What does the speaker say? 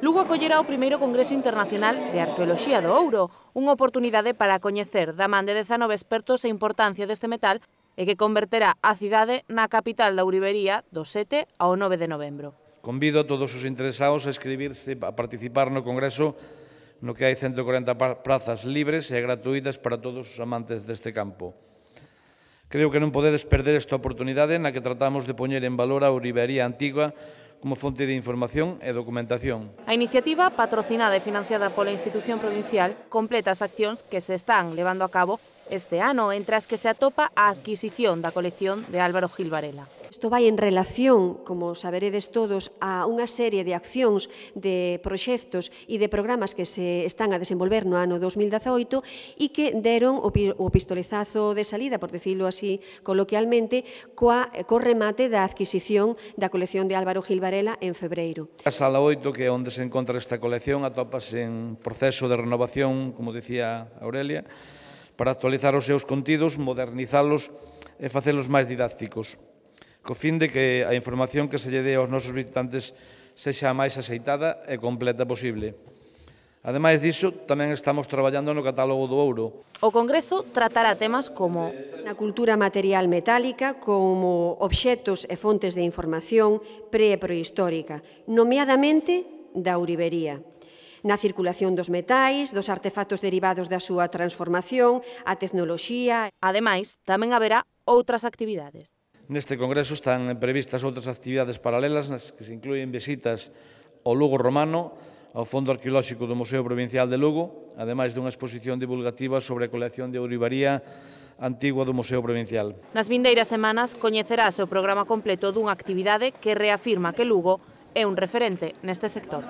Lugo acollerá o primeiro Congreso Internacional de Arqueoloxía do Ouro, unha oportunidade para coñecer da man de 19 expertos a importancia deste metal e que converterá a cidade na capital da ourivería do 7 ao 9 de novembro. Convido a todos os interesados a inscribirse a participar no Congreso, no que hai 140 prazas libres e gratuítas para todos os amantes deste campo. Creo que non podedes perder esta oportunidade na que tratamos de poñer en valor a ourivería antigua como fonte de información e documentación. A iniciativa, patrocinada e financiada pola institución provincial, completa as accións que se están levando a cabo este ano, entre as que se atopa a adquisición da colección de Álvaro Gil Varela. Isto vai en relación, como saberedes todos, a unha serie de accións, de proxectos e de programas que se están a desenvolver no ano 2018 e que deron o pistoletazo de salida, por decirlo así coloquialmente, co remate da adquisición da colección de Álvaro Gil Varela en febreiro. A Sala 8, que é onde se encontra esta colección, atópase en proceso de renovación, como dicía Aurelia, para actualizar os seus contidos, modernizalos e facelos máis didácticos, co fin de que a información que se lle dé aos nosos visitantes sexa a máis axeitada e completa posible. Ademais diso, tamén estamos traballando no catálogo do ouro. O Congreso tratará temas como na cultura material metálica, como obxectos e fontes de información pre- e prehistórica, nomeadamente da ourivería, na circulación dos metais, dos artefactos derivados da súa transformación, a tecnoloxía. Ademais, tamén haberá outras actividades. Neste Congreso están previstas outras actividades paralelas nas que se inclúen visitas ao Lugo romano, ao Fondo Arqueolóxico do Museo Provincial de Lugo, ademais dunha exposición divulgativa sobre a colección de ourivaría antigua do Museo Provincial. Nas vindeiras semanas coñecerase o programa completo dunha actividade que reafirma que Lugo é un referente neste sector.